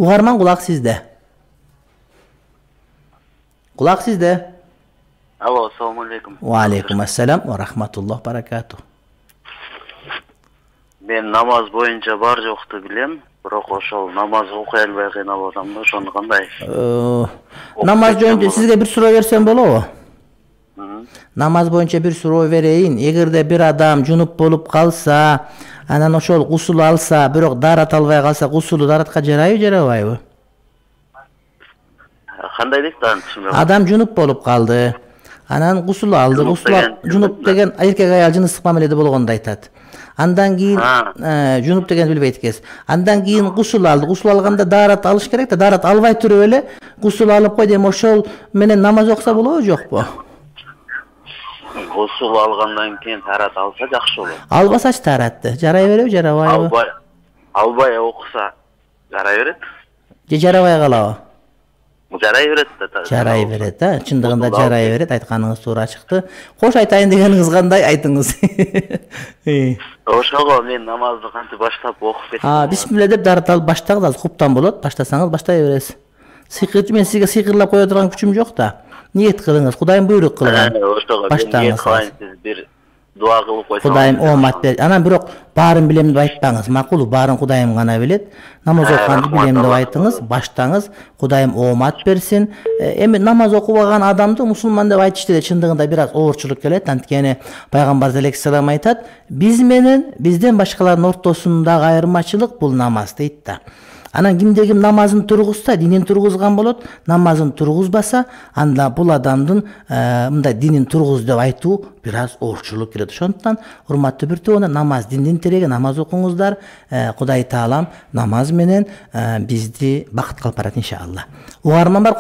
Угарман, кулак сизде. Кулак сизде. Алло, ассаламу алейкум. Ва алейкум ассалам ва рахматуллах баракату. Мен намаз боюнча бар жокту билем, бирок ошол намаз окуй албай кыйналып атам да, ошону кандай? Намаз жөнүндө сизге бир суроо берсем болобу? Намаз боюнча бир суроо берейин. Эгерде бир адам жунуп болуп калса, анан ошол гусул алса, бирок даарат албай калса, гусулу дааратка жарайбы, жарабайбы? Кандай дейт да түшүнбөйм. Адам жунуп болуп калды. Анан гусул алды. Жунуп деген эркек аял жыныстык мамиледе болгонду айтат. Андан кийин жунуп дегенди билбейт экенсиз. Андан кийин гусул алды. Гусул алганда даарат алыш керек да, даарат албай туруп эле гусул алып кой дейм, ошол менен намаз окуса болобу, жокпу? Гусул алгандан кийин таарат алса жакшы болот. Албасачы тааратты жарай береби, жарабайбы? Албай окуса жарай берет. Же жарабай калабы? Жарай берет да. Жарай берет, чындыгында жарай берет. Айтканыңыз туура чыкты. Кош айтайын дегениңиз кандай, айтыңыз. Ошого мен намазды кантип баштап окуп кеттим. Бисмилла деп даарат алып баштаңыз, азыр куптан болот. Баштасаңыз баштай бересиз. Сыйкырчы, мен сизге сыйкырлап кое турган күчүм жок да. Ниет кылыңыз, Кудайым буйрук кылган. Баштаңыз. Бир дуа кылып койсоңуз. Кудайым оомат бер. Анан бирок баарын билем деп айтпаңыз. Макулу, баарын Кудайым гана билет. Намаз окуганды билем деп айтыңыз, баштаңыз. Кудайым оомат берсин. Эми намаз окубаган адамды мусулман деп айтышты да чындыгында бир аз оорчулук келет. Анткени пайгамбар алейхиссалам айтат, биз менен бизден башкалардын ортосундагы айырмачылык бул намаз дейт да. Анан кимде ким намазын тургузса, динин тургузган болот, намазын тургузбаса, анда бул адамдын мындай динин тургуз деп айтуу бир аз оорчулук келет. Ошондуктан урматтуу бир тоона, намаз диндин тиреги, намаз окуңуздар. Кудай таалам намаз менен бизди бакытка алып барат иншалла. Угарман бар.